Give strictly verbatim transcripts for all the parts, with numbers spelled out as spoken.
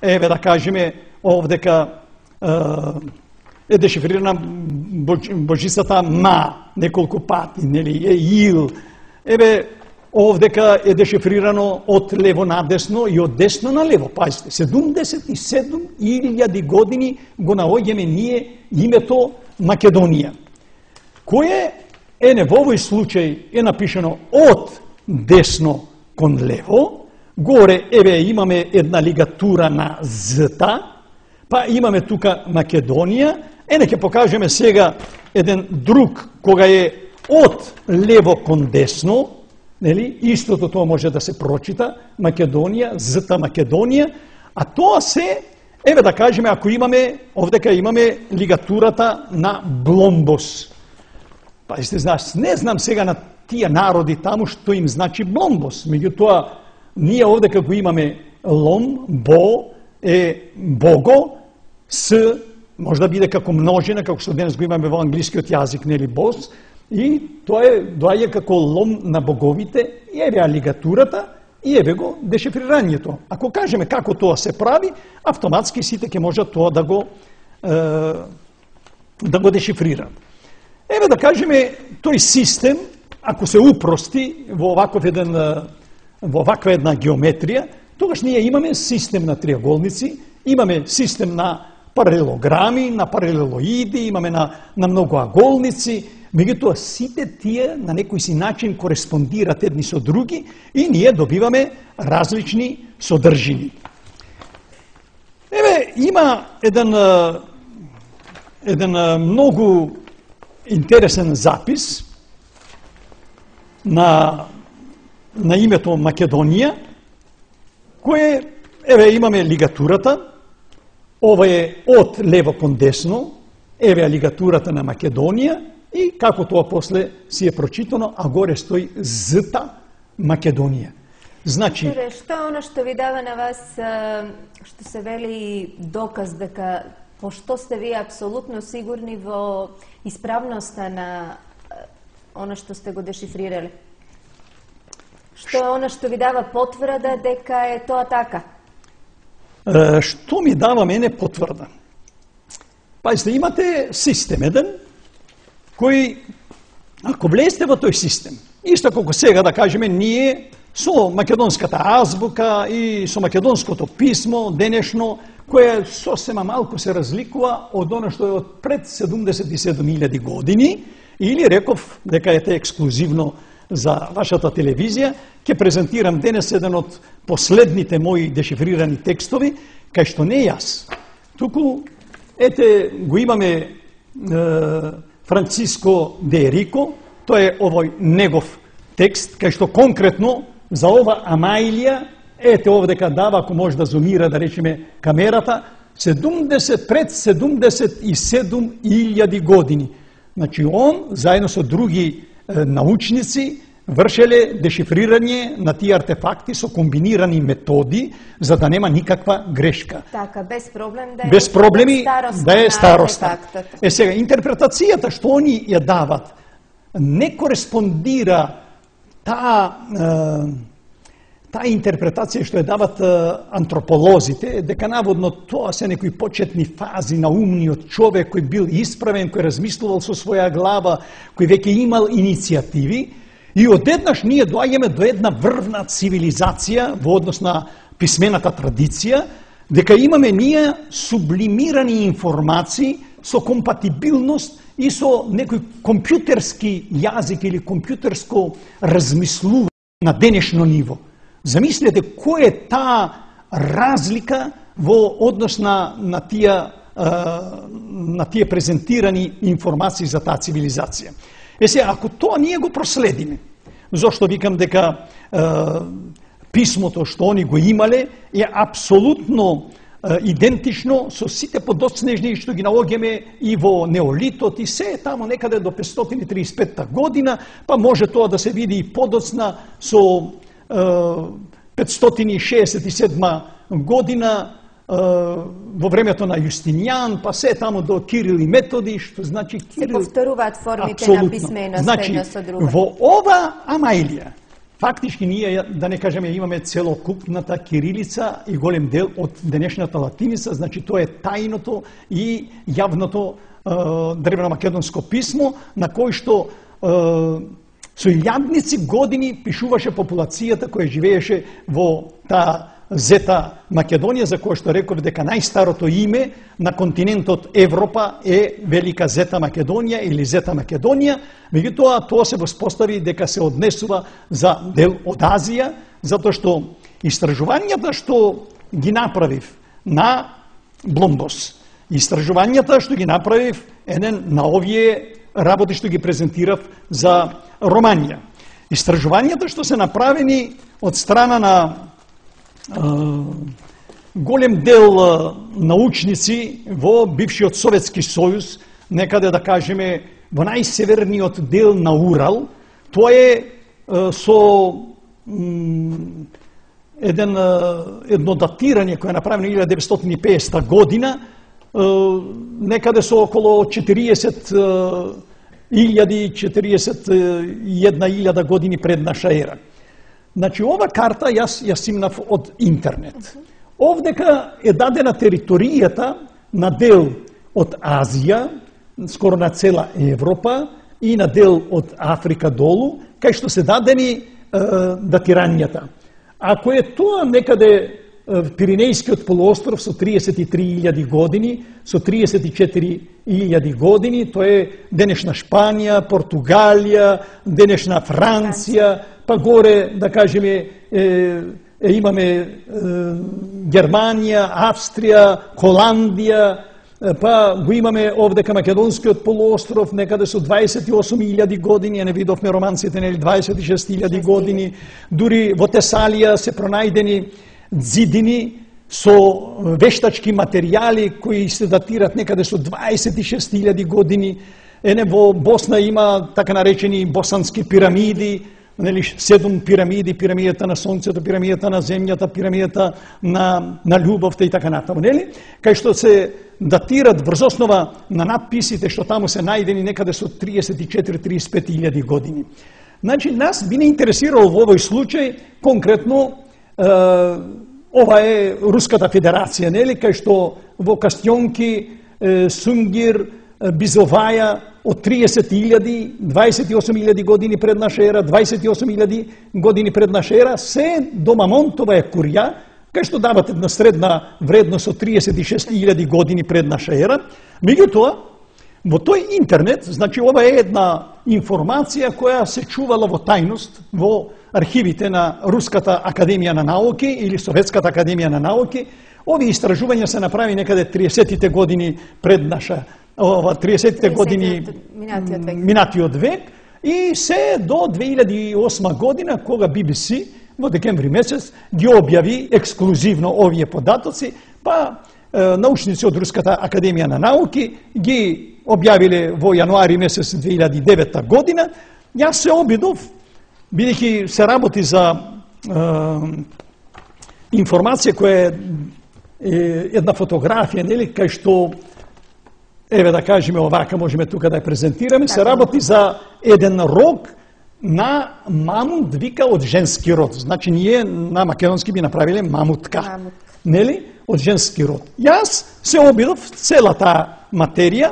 еве да кажеме овдека е дешифрирана божицата Ма неколку пати, нели, е Ил. Еве овдека е дешифрирано од лево надесно и од десно на лево. Пазите, седумдесет и седум илјади години го наоѓаме ние името Македонија. Кое е не во овој случај е напишано од десно кон лево, горе еве имаме една лигатура на зта, па имаме тука Македонија, ене ќе покажеме сега еден друг кога е од лево кон десно, нели, истото тоа може да се прочита, Македонија, зта Македонија, а тоа се, еве да кажеме, ако имаме, овдека имаме лигатурата на Бломбос. Па сте знаеш, не знам сега на тие народи таму што им значи Бломбос, меѓутоа ние овдека го имаме лом, бо е бого, с може да биде како множина, како што денес го имаме во англискиот јазик, нели, бос, и тоа е доаѓа како лом на боговите, и еве алигатурата, и еве го дешифрирањето. Ако кажеме како тоа се прави, автоматски сите ќе можат тоа да го е, да го дешифрираат. Еве да кажеме тој систем, ако се упрости во оваков еден во ваква една геометрија, тогаш ние имаме систем на триаголници, имаме систем на паралелограми, на паралелоиди, имаме на, на многоаголници, меѓутоа сите тие на некој си начин кореспондираат едни со други и ние добиваме различни содржини. Еве, има еден, еден многу интересен запис на, на името Македонија, кое, еве, имаме лигатурата, ова е од лево кон десно, еве лигатурата на Македонија и како тоа после си е прочитано, а горе стои зта Македонија. Значи, Доктore, што е оно што ви дава на вас, што се вели доказ дека, пошто сте вие апсолутно сигурни во исправноста на оно што сте го дешифрирали? Што е оно што ви дава потврда дека е тоа така? Што ми дава мене потврда? Пазите, имате систем еден, кој, ако влезете во тој систем, исто како сега да кажеме ние со македонската азбука и со македонското писмо денешно, кое сосема малку се разликува од оно што е од пред седумдесет и седум илјади години, или реков дека е ексклузивно за вашата телевизија, ќе презентирам денес еден од последните мои дешифрирани текстови, кај што не јас. Туку, ете, го имаме е, Франциско де Рико, тоа е овој негов текст, кај што конкретно за ова Амаилија, ете овдека дава, ако може да зумира, да речеме, камерата, седумдесет, пред седумдесет и седум илјади години. Значи, он, заедно со други е, научници, вршеле дешифрирање на тие артефакти со комбинирани методи, за да нема никаква грешка. Така, без проблем да е, без проблеми да е староста. артефактот. Е сега, интерпретацијата што они ја дават, не кореспондира таа таа интерпретација што ја дават антрополозите, дека наводно тоа се некои почетни фази на умниот човек кој бил исправен, кој размислувал со своја глава, кој веќе имал иницијативи, и одеднаш ние доаѓаме до една врвна цивилизација во однос на писмената традиција, дека имаме ние сублимирани информации со компатибилност и со некој компјутерски јазик или компјутерско размислување на денешно ниво. Замислете кој е таа разлика во однос на, на, тие, на тие презентирани информации за таа цивилизација. Е се, ако тоа ние го проследиме, зошто викам дека е, писмото што они го имале е апсолутно е, идентично со сите подоцнежни што ги наоѓаме и во неолитот и се тамо некаде до петстотини и триесет и петта година, па може тоа да се види и подоцна со е, петстотини и шеесет и седма година во времето на Јустинијан, па се тамо до Кирил и Методи, што значи Кирил... Се повторуваат формите Абсолютно. на писменост значи, една со друга. Во ова Амаилија, фактички ние, да не кажеме, имаме целокупната кирилица и голем дел од денешната латиница, значи тоа е тајното и јавното е, древномакедонско писмо, на кој што е, со илјадници години пишуваше популацијата која живееше во таа Зета Македонија, за која што реков дека најстарото име на континентот Европа е Велика Зета Македонија или Зета Македонија, меѓутоа тоа се воспостави дека се однесува за дел од Азија, затоа што истражувањата што ги направив на Бломбос, истражувањата што ги направив еден на овие работи што ги презентирав за Романија, истражувањата што се направени од страна на голем дел научници во бившиот Советски сојуз, некаде да кажеме во најсеверниот дел на Урал, тоа е со еден, едно датирање кое е направено илјада деветстотини и педесета година, некаде со околу четириесет илјади, четириесет и една илјада години пред наша ера. Значи, ова карта јас ја симнав од интернет. Овдека е дадена територијата на дел од Азија, скоро на цела Европа, и на дел од Африка долу, кај што се дадени е, датирањата. Ако е тоа некаде Пиринејскиот полуостров со триесет и три илјади години, со триесет и четири илјади години, тоа е денешна Шпанија, Португалија, денешна Франција, па горе, да кажеме, е, е, имаме е, Германија, Австрија, Холандија, е, па го имаме овдека Македонскиот полуостров, некаде со дваесет и осум илјади години, ја не видовме романците, нели, дваесет и шест илјади години, дури во Тесалија се пронајдени ѕидини со вештачки материјали кои се датират некаде со дваесет и шест илјади години. Ене во Босна има така наречени босански пирамиди, нели, седум пирамиди, пирамидата на сонцето, пирамидата на земјата, пирамидата на, на љубовта и така натаму, нели? Кај што се датират врз основа на надписите што таму се најдени некаде со триесет и четири до триесет и пет илјади години. Значи, нас би не интересирало во овој случај конкретно е, ова е Руската Федерација, нели, кај што во Кастјонки, е, Сунгир, Бизоваја од триесет илјади, дваесет и осум илјади години пред наша ера, дваесет и осум илјади години пред наша ера, се до Мамонтова е Курја, кај што дават една средна вредност од триесет и шест илјади години пред наша ера. Меѓутоа, во тој интернет, значи ова е една информација која се чувала во тајност во архивите на Руската академија на науки или Советската академија на науки. Овие истражувања се направи некаде триесеттите години пред наша ова триесеттите години минатиот век. минатиот век и се до две илјади и осма година кога Би Би Си во декември месец ги објави ексклузивно овие податоци, па е, научници од Руската академија на науки ги објавиле во јануари месец две илјади и девета година. Јас се обидов, бидејќи се работи за е, информација која е една фотографија, нели, кај што, еве да кажеме овака, можеме тука да ја презентираме, се работи за еден рог на мамут, вика, од женски род. Значи, ние на македонски би направиле мамутка, Мамут. нели, од женски род. Јас се обидов целата материја,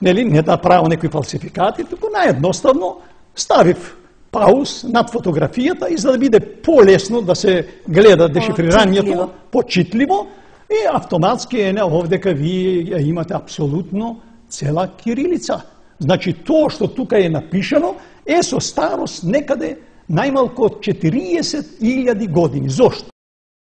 нели, не да правам некои фалсификати, туку наједноставно ставив пауз над фотографијата и за да биде полесно да се гледа дешифрирањето, почитливо, и автоматски е овдека вие имате апсолутно цела кирилица. Значи, тоа што тука е напишано е со старост некаде најмалку од четириесет илјади години. Зошто?